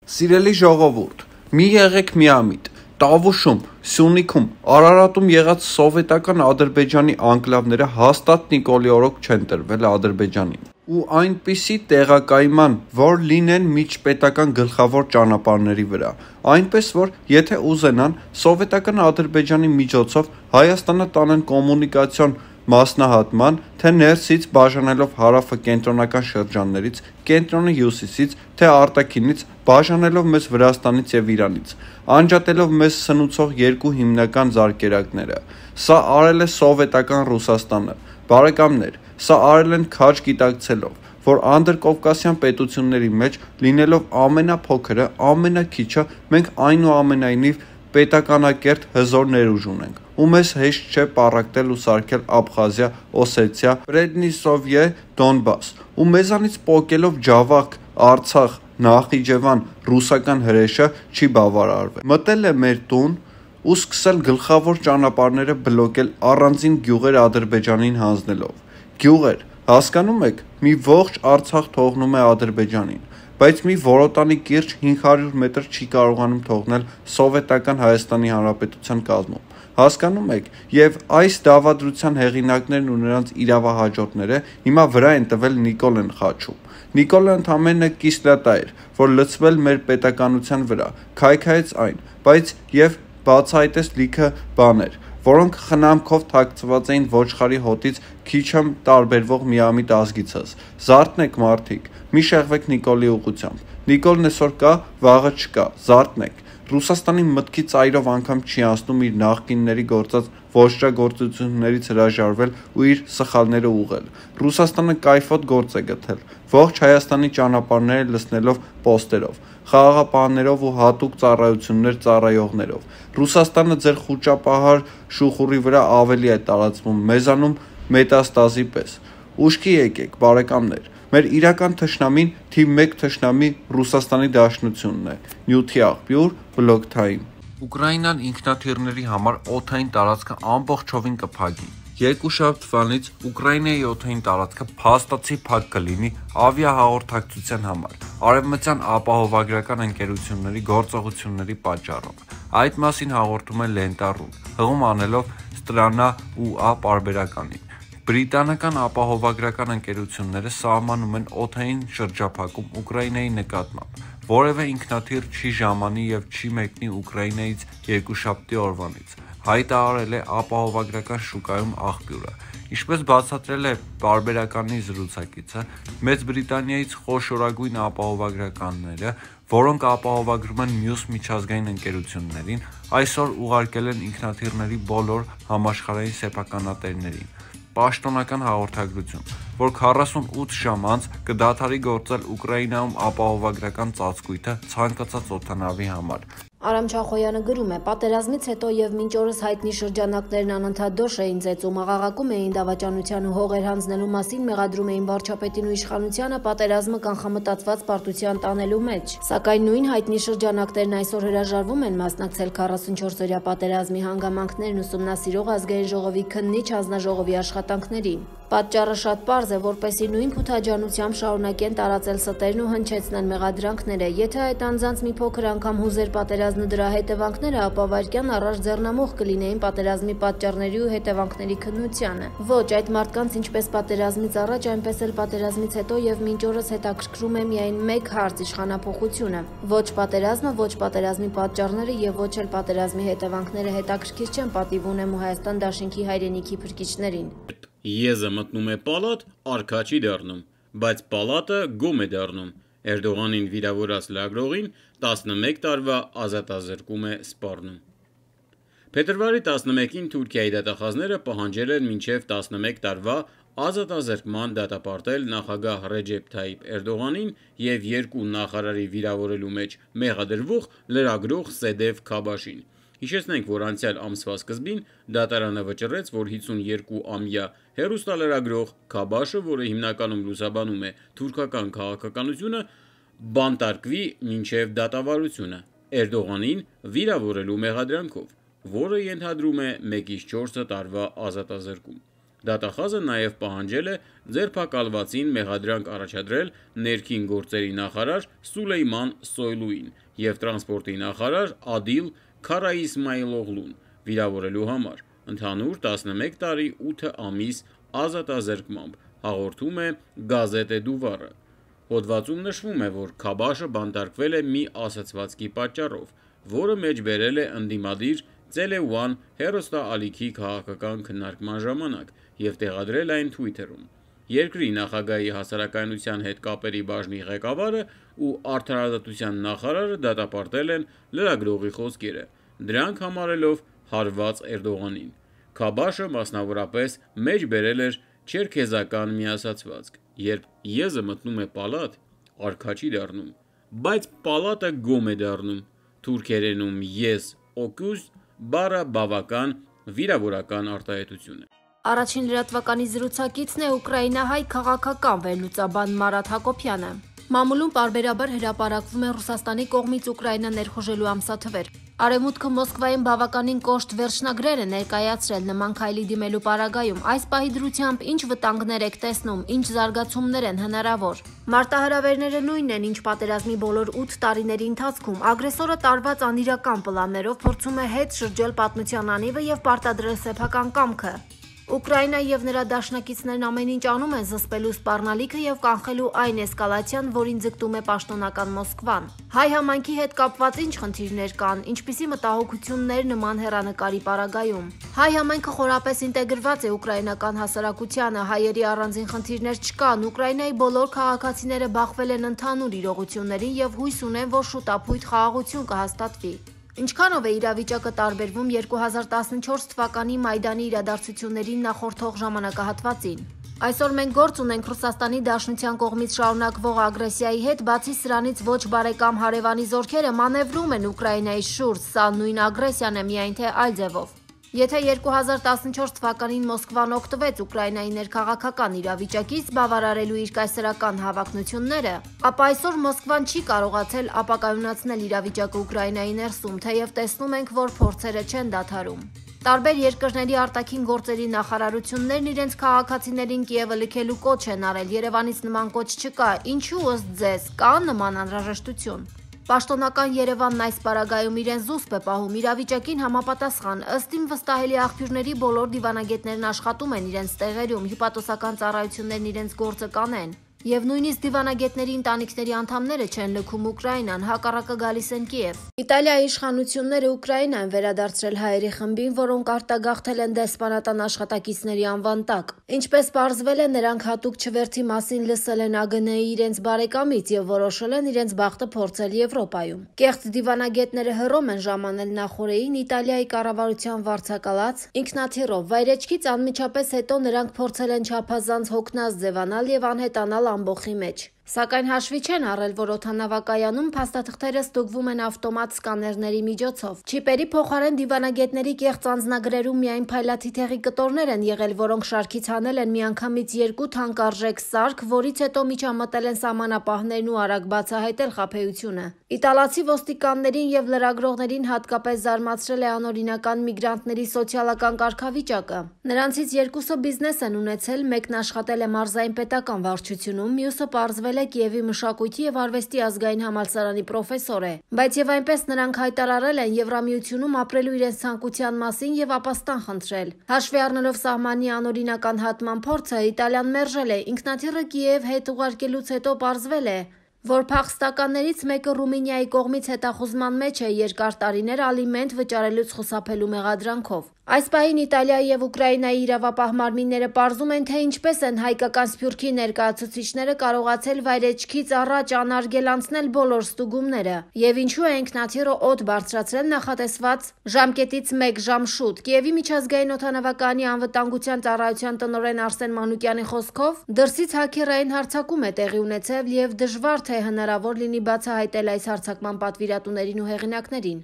Սիրելի ժողովուրդ, մի եղեք միամիտ, Տավուշում, Սյունիքում, Արարատում եղած սովետական Ադրբեջանի անկլավները հաստատ Նիկոլի օրոք չեն տրվել Ադրբեջանին ու այնպիսի տեղակայման, որ լինեն միջպետական գլխավոր ճանապարհների վրա, այնպես որ եթե ուզենան սովետական Ադրբեջանի միջոցով Հայաստանը տանեն կոմունիկացիոն մասնահատման, թե ներսից բաժանելով հարավը կենտրոնական շրջաններից, կենտրոնը հյուսիսից, թե արտաքինից, բաժանելով մեզ Վրաստանից և Իրանից, անջատելով մեզ սնուցող երկու հիմնական զարկերակները, սա արել է սովետական Ռուսաստանը, բարեկամներ, սա արել են քաջ գիտակցելով, որ անդրկովկասյան պետությունների մեջ լինելով ամենափոքրը, ամենաքիչը, մենք այնուամենայնիվ պետականակերտ հզոր ներուժ ունենք, ու մեզ հեշտ չէ պառակտել ու սարքել Աբխազիա, Օսեթիա, Պրեդնիստրովիե, Դոնբաս, ու մեզանից պոկելով Ջավախք, Արցախ, Նախիջևան, ռուսական հրեշը չի բավարարվել։ Մտել է մեր տուն ու սկսել գլխավոր ճանապարհները բլոկել առանձին գյուղեր Ադրբեջանին հանձնելով։ Գյուղեր, հասկանում եք, մի ողջ Արցախ թողնում է Ադրբեջանին, բայց մի Որոտանի կիրճ 500 մետր չի կարողանում թողնել Սովետական Հայաստանի Հանրապետության կազմում։ Հասկանում եք, և այս դավադրության հեղինակներն ու նրանց իրավահաջորդները հիմա վրա են տվել Նիկոլեն խաչում։ Նիկոլը ընդամենը կիսլատա էր, որ լցվել մեր պետականության վրա, քայքայեց այն, բայց և բացահայտեց լիքը բաներ, որոնք խնամքով թաքցված էին ոչխարի հոտից քիչ տարբերվող միամիտ ազգիցս։ Զարթնեք մարդիկ, մի շեղվեք Նիկոլի ուղղությամբ։ Նիկոլն այսօր կա, վաղը չկա, զարթնեք։ Ռուսաստանի մտքի ծայրով անգամ չի անցնում իր նախկինների գործած ոճրագործություններից հրաժարվել ու իր սխալները ուղղել։ Ռուսաստանը կայֆոտ գործ է գտել, ողջ Հայաստանի ճանապարհները լցնելով պոստերով, խաղաղապահներով ու հատուկ ծառայություններ ծառայողներով։ Ռուսաստանը ձեր խուճապահար շուխուռի վրա ավելի է տարածվում մեզանում մետաստազի պես։ Ուշքի եկեք, բարեկամներ, մեր իրական թշնամին թիվ 1 թշնամի Ռուսաստանի Դաշնությունն է, նյութի աղբյուր, բլոկ թայմ։ Ուկրաինան ինքնաթիռների համար օդային տարածքը ամբողջովին կփակի։ Երկուշաբթվանից Ուկրաինայի օդային տարածքը փաստացի փակ կլինի ավիահաղորդակցության համար, արևմտյան ապահովագրական ընկերությունների գործողությունների պատճառով։ Այդ մասին հաղորդում է Լենտա.ru, հղում անելով Ստրանա.ua պարբերականին։ Բրիտանական ապահովագրական ընկերությունները սահմանում են օդային շրջափակում Ուկրաինայի նկատմամբ։ Որևէ ինքնաթիռ չի ժամանի և չի մեկնի Ուկրաինայից երկուշաբթի օրվանից, հայտարարել է ապահովագրական շուկայում աղբյուրը։ Ինչպես բացատրել է պարբերականի զրուցակիցը, Մեծ Բրիտանիայից խոշորագույն ապահովագրականները, որոնք ապահովագրում են մյուս միջազգային ընկերություններին, այսօր ուղարկել են ինքնաթիռների բոլոր համաշխարհային սեփականատերերին պաշտոնական հաղորդագրություն, որ 48 ժամ անց կդադարի գործել Ուկրաինայում ապահովագրական ծածկույթը ցանկացած օդանավի համար։ Արամ Չախոյանը գրում է. «Պատերազմից հետո և մինչ օրս հայտնի շրջանակներն անընդհատ դոշ էին ծեծում, աղաղակում էին դավաճանության ու հողեր հանձնելու մասին, մեղադրում էին վարչապետին ու իշխանությանը պատերազմը կանխամտածված պարտության տանելու մեջ։ Սակայն նույն հայտնի շրջանակներն այսօր հրաժարվում են մասնակցել 44-օրյա պատերազմի հանգամանքներն ուսումնասիրող Ազգային ժողովի քննիչ հանձնաժողովի աշխատանքներին։ Պատճառը շատ պարզ է, որպեսզի նույն փութաջանությամբ շարունակեն տարածել ստերն ու հնչեցնեն մեղադրանքները։ Եթե այդ անձանց մի փոքր անգամ հուզեր պատերազմն ու դրա հետևանքները, ապա վայրկյան առաջ ձեռնամուխ կլինեին պատերազմի պատճառների ու հետևանքների քննությանը։ Ոչ, այդ մարդկանց ինչպես պատերազմից առաջ, այնպես էլ պատերազմից հետո և մինչ օրս հետաքրքրում է միայն մեկ հարց՝ իշխանափոխությունը։ Ոչ պատերազմը, ոչ պատերազմի պատճառները և ոչ էլ պատերազմի հետևանքները հետաքրքիր չեն, պատիվ ունեմ ու Հայաստան Դաշինքի հայրենիքի փրկիչներին։ Եզը մտնում է պալատ, արքա չի դառնում, բայց պալատը գոմ է դառնում։ Էրդողանին վիրավորած լրագրողին 11 տարվա ազատազրկում է սպառնում։ Փետրվարի 11-ին Թուրքիայի դատախազները պահանջել են մինչև 11 տարվա ազատազրկման դատապարտել նախագահ Ռեջեփ Թայիփ Էրդողանին և երկու նախարարի վիրավորելու մեջ մեղադրվող լրագրող Սեդեվ Քաբաշին։ Հիշեցնենք, որ անցյալ ամսվա սկզբին դատարանը վճռեց, որ 52-ամյա հեռուստալրագրող Քաբաշը, որը հիմնականում լուսաբանում է թուրքական քաղաքականությունը, բանտարկվի մինչև դատավարությունը Էրդողանին վիրավորելու մեղադրանքով, որը ենթադրում է 1-4 տարվա ազատազրկում։ Դատախազը նաև պահանջել է ձերբակալվածին մեղադրանք առաջադրել ներքին գործերի նախարար Սուլեյման Սոյլուին և տրանսպորտի նախարար Ադիլ Քարաիսմայլօղլուն վիրավորելու համար, ընդհանուր 11 տարի 8 ամիս ազատազրկմամբ, հաղորդում է Գազետե Դուվարը։ Հոդվածում նշվում է, որ Քաբաշը բանտարկվել է մի ասացվածքի պատճառով, որը մեջբերել է ընդդիմադիր Ցելեուան հեռուստաալիքի քաղաքական քննարկման ժամանակ և տեղադրել այն Twitter-ում։ Երկրի նախագահի հասարակայնության հետ կապերի բաժնի ղեկավարը ու արդարադատության նախարարը դատապարտել են լրագրողի խոսքերը, դրանք համարելով հարված Էրդողանին։ Քաբաշը մասնավորապես մեջբերել էր չերքեզական մի ասացվածք. «Երբ եզը մտնում է պալատ, արքա չի դառնում, բայց պալատը գոմ է դառնում»։ Թուրքերենում «ես օկուզ» բառը բավական վիրավորական արտահայտություն է։ Առաջին լրատվականի զրուցակիցն է ուկրաինահայ քաղաքական վերլուծաբան Մարաթ Հակոբյանը։ Մամուլում պարբերաբար հրապարակվում են Ռուսաստանի կողմից Ուկրաինա ներխուժելու ամսաթվեր։ Արևմուտքը Մոսկվայում բավականին կոշտ վերջնագրեր է ներկայացրել նման քայլի դիմելու պարագայում։ Այս պահի դրությամբ ինչ վտանգներ եք տեսնում, ինչ զարգացումներ են հնարավոր։ Մարտահրավերները նույնն են, ինչ պատերազմի բոլոր 8 տարիների ընթացքում։ Ագրեսորը տարված անիրական պլաններով փորձում է հետ շրջել պատմության անիվը եւ պարտադրել սեփական կամքը։ Ուկրաինա եւ նրա դաշնակիցներն ամեն ինչ անում են զսպելու սպառնալիքը եւ կանխելու այն էսկալացիան, որին ձգտում է պաշտոնական Մոսկվան։ Հայ համայնքի հետ կապված ինչ խնդիրներ կան, ինչպիսի մտահոգություններ նման հեռանկարի պարագայում։ Հայ համայնքը խորապես ինտեգրված է ուկրաինական հասարակությանը, հայերի առանձին խնդիրներ չկան, Ուկրաինայի բոլոր քաղաքացիները բախվել են ընդհանուր իրողություններին եւ հույս ունեն, որ շուտապույտ խաղաղություն կհաստատվի։ Ինչքանով է իրավիճակը տարբերվում 2014 թվականի Մայդանի իրադարձություններին նախորդող ժամանակահատվածին։ Այսօր մենք գործ ունենք Ռուսաստանի Դաշնության կողմից շարունակվող ագրեսիայի հետ, բացի սրանից ոչ բարեկամ հարևանի զորքերը մանևրում են Ուկրաինայի շուրջ, սա նույն ագրեսիան է, միայն թե այլ ձևով։ Եթե 2014 թվականին Մոսկվան օգտվեց Ուկրաինայի ներքաղաքական իրավիճակից բավարարելու իր կայսերական հավակնությունները, ապա այսօր Մոսկվան չի կարողացել ապակայունացնել իրավիճակը Ուկրաինայի ներսում, թեև տեսնում ենք, որ փորձերը չեն դադարում։ Տարբեր երկրների արտաքին գործերի նախարարություններն իրենց քաղաքացիներին Կիևը լքելու կոչ են արել, Երևանից նման կոչ չկա, ինչու ըստ ձեզ կա նման անհրաժեշտություն։ Պաշտոնական Երևանն այս պարագայում իրեն զուսպ է պահում իրավիճակին համապատասխան, ըստ իմ վստահելի աղբյուրների բոլոր դիվանագետներն աշխատում են իրենց տեղերում, հյուպատոսական ծառայություններն իրենց գործը կանեն։ Եվ նույնիսկ դիվանագետների ընտանիքների անդամները չեն լքում Ուկրաինան, հակառակը գալիս են Կիև։ Իտալիայի իշխանությունները Ուկրաինա են վերադարձրել հայերի խմբին, որոնք արտագաղթել են դեսպանատան աշխատակիցների անվան տակ։ Ինչպես պարզվել է, նրանք հատուկ չվերթի մասին լսել են ԱԳՆ-ի իրենց բարեկամից եւ որոշել են իրենց բախտը փորձել Եվրոպայում։ Կեղծ դիվանագետները հռոմ են ժամանել նախորդին Իտալիայի կառավարության վարձակալած ինքնաթիռով։ Վայրեջքից անմիջապես հետո նրանք փորձել են չափազանց հոգնած ձևանալ եւ անհետանալ ամբոխի մեջ։ Սակայն հաշվի չեն առել, որ օդանավակայանում փաստաթղթերը ստուգվում են ավտոմատ սկաներների միջոցով։ Չիպերի փոխարեն դիվանագետների կեղծ անձնագրերում միայն փայլաթիթեղի կտորներ են եղել, որոնք շարքից հանել են միանգամից 2 թանկարժեք սարք, որից հետո միջամտել են սահմանապահներն ու արագ բացահայտել խաբեությունը։ Իտալացի ոստիկաններին եւ լրագրողներին հատկապես զարմացրել է անօրինական միգրանտների սոցիալական կարգավիճակը։ Նրանցից 2-ը բիզնես են ունեցել, մեկն աշխատել է մարզային պետական վարչությունում, մյուսը պարզվել է Կիևի մշակույթի եւ արվեստի ազգային համալսարանի պրոֆեսոր է, բայց եւ այնպես նրանք հայտարարել են Եվրամիությունում ապրելու իրենց ցանկության մասին եւ ապաստան խնդրել։ Հաշվի առնելով սահմանի անօրինական հատման փորձը, Իտալիան մերժել է ինքնաթիռը Կիև հետ ուղարկելուց հետո պարզվել է, որ փախստականներից մեկը Ռումինիայի կողմից հետախուզման մեջ է երկար տարիներ ալիմենտ վճարելուց խուսափելու մեղադրանքով։ Այս պահին Իտալիայի եւ Ուկրաինայի իրավապահ մարմինները պարզում են, թե ինչպես են հայկական Սփյուռքի ներկայացուցիչները կարողացել վայրեջքից առաջ անարգել անցնել բոլոր ստուգումները, եւ ինչու է ինքնաթիռը օդ բարձրացրել նախատեսված ժամկետից 1 ժամ շուտ։ Կիևի միջազգային օդանավակայանի անվտանգության ծառայության տնօրեն Արսեն Մանուկյանի խոսքով, դրսից հաքերային հարձակում է տեղի ունեցել եւ դժվար թե հնարավոր լինի բացահայտել այս հարձակման պատվիրատուներին ու հեղինակներին։